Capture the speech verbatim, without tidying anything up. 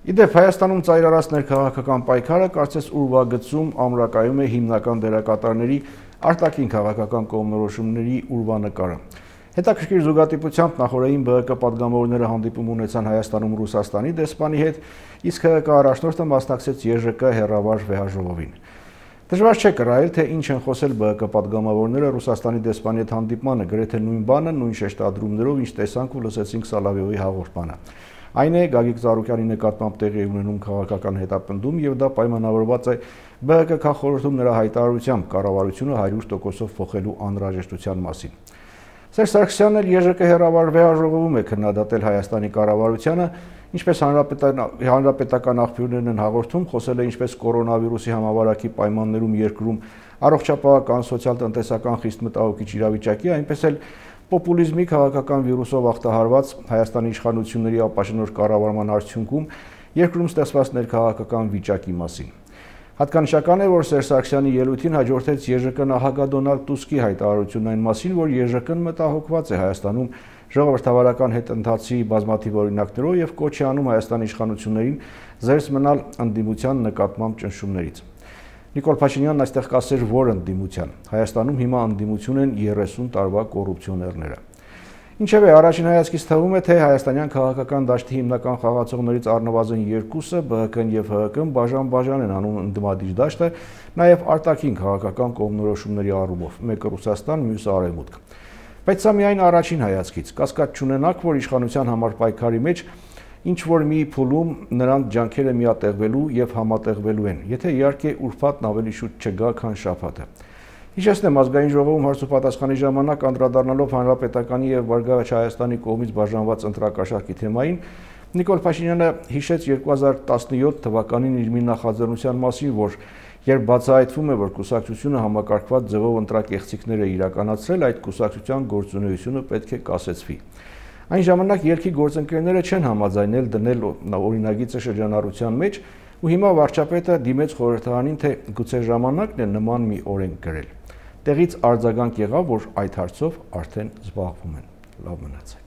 Իդեպ Հայաստանում ծայրարած ներքաղաքական պայքարը կարծես ուրվագծում ամրակայում է հիմնական դերակատարների արտաքին քաղաքական կողմնորոշումների ուրվանկարը։ Հետաքրքիր զուգատիպությամբ նախորդին ԲՀԿ պատգամավորները հանդիպում ունեցան Հայաստանում Ռուսաստանի դեսպանի հետ, իսկ ՀՀԿ առաջնորդը մասնակցեց ԵԺԿ հեռավար վեհաժողովին։ Դժվար չէ կռահել, թե ինչ են խոսել ԲՀԿ պատգամավորները Ռուսաստանի դեսպանի հետ հանդիպմանը, գրեթե նույն բանը, նույն շեշտադրումներով, ինչ տեսանք ու լսեցինք Սալավիովի հաղորդմանը։ Այն է Գագիկ Ծառուկյանի նկատմամբ տեղի ունենում քաղաքական հետապնդում եւ դա պայմանավորված է ԲՀԿ քաղաքորոշում նրա հայտարարությամբ կառավարությունը հարյուր տոկոսով փոխելու անհրաժեշտության մասին։ Սերժ Սարգսյանն էլ ԵԺԿ հեռավար վեհաժողովում է քննադատել Հայաստանի կառավարությանը, ինչպես հանրապետական աղբյուրներն են հաղորդում, խոսել է ինչպես կորոնավիրուսի համավարակի պայմաններում երկրում առողջապահական, սոցիալ-տնտեսական խիստ մտահոգիչ իրավիճակի, այնպես էլ պոպուլիզմի քաղաքական վիրուսով ախտահարված Հայաստանի իշխանությունների ապաշնորհ կառավարման արդյունքում երկրում ստեղծված ներքաղաքական վիճակի մասին։ Հատկանշական է, որ Սերժ Սարգսյանի ելույթին հաջորդեց ԵԺԿ նախագահ Դոնալդ Տուսկի հայտարարությունն այն մասին, որ ԵԺԿ-ն մտահոգված է Հայաստանում ժողովրդավարական հետընթացի բազմաթիվ օրինակներով եւ կոչ է անում Հայաստանի իշխանություններին զերծ մնալ ընդդիմության նկատմամբ ճնշումներից։ Նիկոլ Փաշինյանն այստեղ կասեր, որ ընդդիմության։ Հայաստանում հիմա ընդդիմություն են երեսուն տարվա կոռուպցիոներները։ Ինչևէ, առաջին հայացքից թվում է, թե հայաստանյան քաղաքական դաշտի հիմնական խաղացողներից առնվազն երկուսը ԲՀԿ-ն եւ ՀՀԿ-ն բաժան-բաժան են անում ընդդիմադիր դաշտը, նաեւ արտաքին քաղաքական կողմնորոշումների առումով, մեկը Ռուսաստան, մյուսը Արևմուտք։ Բայց սա միայն առաջին հայացքից, կասկած չունենաք, որ իշխանության համար պայքարի մեջ ինչ որ մի փուլում նրանց ջանքերը միատեղվելու եւ համատեղվելու են, եթե իհարկե ուրբաթն ավելի շուտ չգա, քան շաբաթը։ Հիշեցնեմ, ազգային ժողովում հարց ու պատասխանի ժամանակ անդրադառնալով Հանրապետականի եւ Բարգավաճ Հայաստանի կողմից բաժանված ընտրակաշառքի թեմային, Նիկոլ Փաշինյանը հիշեց երկու հազար տասնյոթ թվականին իր մի նախաձեռնության մասին, որ երբ բացահայտվում է, որ կուսակցությունը համակարգված ձևով ընտրակեղծիքներ է իրականացրել, այդ կուսակցության գործունեությունը պետք է կասեցվի։ Այն ժամանակ ելքի գործընկերները չեն համաձայնել դնել օրինագիծը շրջանառության մեջ ու հիմա վարչապետը դիմեց խորհրդարանին, թե գուցե ժամանակն է նման մի օրենք գրել։ Տեղից արձագանք եղավ, որ այդ հարցով արդեն զբաղվում են։ Լավ մնացեք։